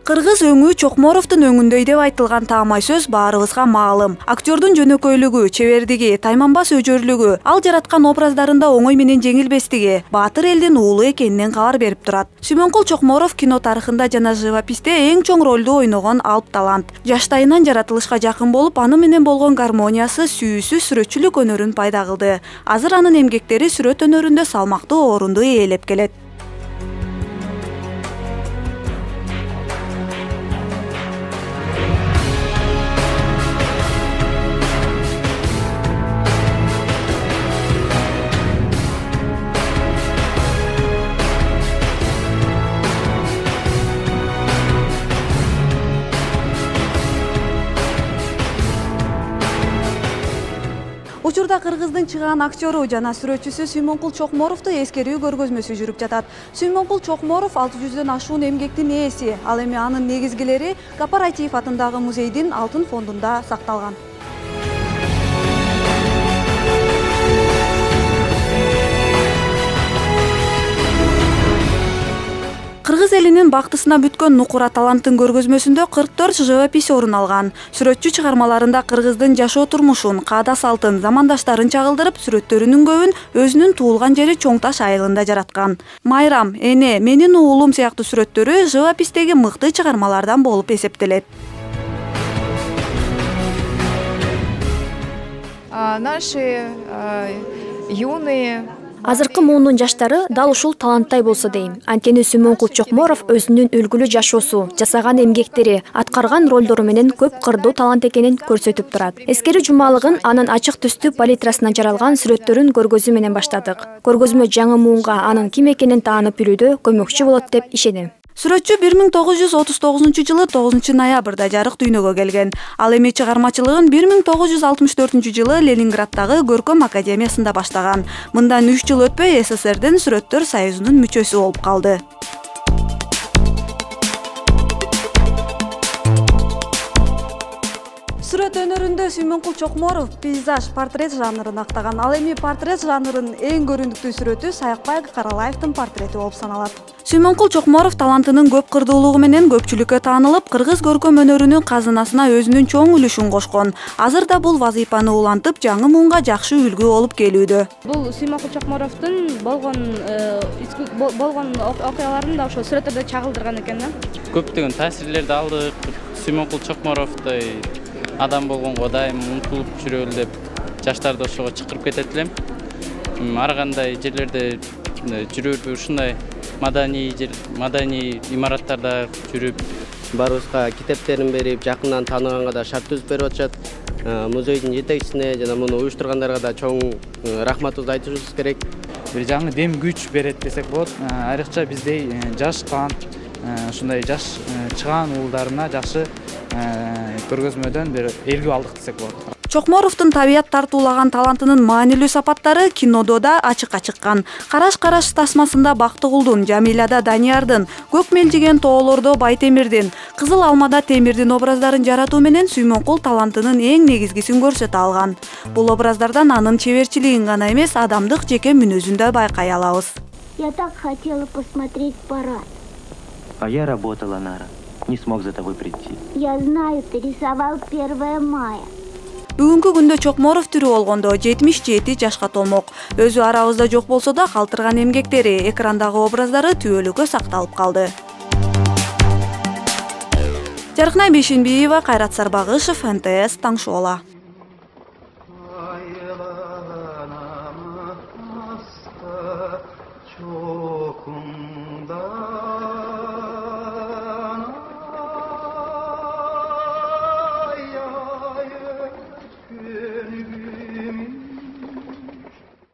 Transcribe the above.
Кыргыз өңү Чокморовдун өңүндөй деп айтылган таамай сөз баарыбызга маалым. Актёрдун жөнөкөйлүгү, чебердиги, тайманбас өжөрлүгү, ал жараткан образдарында оңой менен жеңилбестиги баатыр элдин уулу экенинен кабар берип турат. Сүймөнкул Чокморов кино тарыхында жана живописте эң чоң ролду ойногон алып талант. Жаштайынан жаратылышка жакын болуп, аны менен болгон гармониясы сүйүүсү сүрөтчүлүк өнөрүн пайда кылды. Азыр анын эмгектери сүрөт өнөрүндө салмактуу орунду ээлеп келет. Учурда Кыргыздын чыгаан актёру жана сүрөтчүсү Сүймөнкул Чокморовду эскерүү көргөзмөсү жүрүп жатат. Сүймөнкул Чокморов 600дөн ашуун эмгектин ээси. Ал эми анын негизгилери Кооператив атындагы музейдин алтын фондунда сакталган. Кыргыз элинин бактысына бүткөн нукура таланттын көргөзмөсүндө 44 живопись орун алган. Сүрөтчү чыгармаларында кыргыздын жашоо турмушун, каада салтын, замандаштарын чагылдырып, сүрөттөрүнүн көбүн өзүнүн туулган жери Чоң Таш айылында жараткан. Майрам, Эне, Менин уулум сыяктуу сүрөттөрү живопистеги мыкты чыгармалардан болуп эсептелет. Наши юные Азыркы муунун жаштары дал ушул таланттай болсо дейм. Анткени Сүймөнкул Чокморов өзүнүн үлгүлүү жашоосу, жасаган эмгектери, аткарган ролдору менен көп кырдуу талант экенин көрсөтүп турат. Эскерүү жумалыгын анын ачык түстүү палитрасынан жаралган сүрөттөрүн көргөзүү менен баштадык. Көргөзмө жаңы муунга анын ким экенин таанып билүүгө көмөкчү болот деп ишенем. Сүрөтчү 1939 жылы 9-ноябрда жарык дүйнөгө келген. Ал эми чыгармачылыгын 1964 жылы Ленинграддагы Көркөм академиясында баштаган. Мындан 3 жыл өтпөй СССРдин Сүрөттөр союзунун мүчөсү болуп калды. Сүрөт өнөрүндө Сүймөнкул Чокморов пейзаж, портрет жанрын актаган. Ал эми портрет жанрынын эң көрүндүктүү сүрөтү Саякбай Каралаевдин портрети болуп саналат. Сүймөнкул Чокморов талантынын көп кырдуулугу менен көпчүлүккө таанылып, кыргыз көркөм өнөрүнүн казынасына өзүнүн чоң үлүшүн кошкон. Азыр да бул вазыйпаны улантып, жаңы муунга жакшы үлгү болуп келүүдө. Бул Сүймөнкул Чокморовдун болгон окуяларын да ошо сүрөттөрдө чагылдырган экен да. Көптөгөн таасирлерди алдык. Сүймөнкул Чокморовдой адам болгонго дайым умтулуп жүрөлү деп жаштарды ошого чакырып кетет элем. Ар кандай жерлерде жүрүп, ушундай маданий имараттарда жүрүп, баарыбызга китептерин берип, жакындан тааныганга да шарт түзүп берип атышат. Музейдин жетекчисине жана муну уюштургандарга да чоң рахматыбызды айтышыбыз керек. Бир жаңы дем күч берет десек болот. Айрыкча биздей жаш талант, ушундай жаш чыгаан уулдарына жакшы көргөзмөдөн бир элгүү алдык десек болот. Чокморовдун табият тартуулаган талантынын маанилүү сапаттары кинодо да ачыкка чыккан. Караш-караш тасмасында Бактыгулдун, Жамиляда Даниярдын, Көк мелжиген тоолордо Байтемирдин, Кызыл алмада Темирдин образдарын жаратуу менен Сүймөнкул талантынын эң негизгисин көрсөтө алган. Бул образдардан анын чеберчилигин гана эмес, адамдык жеке мүнөзүн да байкай алабыз. Я так хотела посмотреть парад. А я работала, Нара. Не смог за тобой прийти. Я знаю, ты рисовал 1 мая. Бүгүнкү күндө Чокморов тирүү болгондо 77 жашка толмок. Өзү арабызда жок болсо да калтырган эмгектери, экрандагы образдары түбөлүккө сакталып калды. Жаркынай Бейшенбиева, Кайрат Сарбагышев, НТС, Таң Шоола.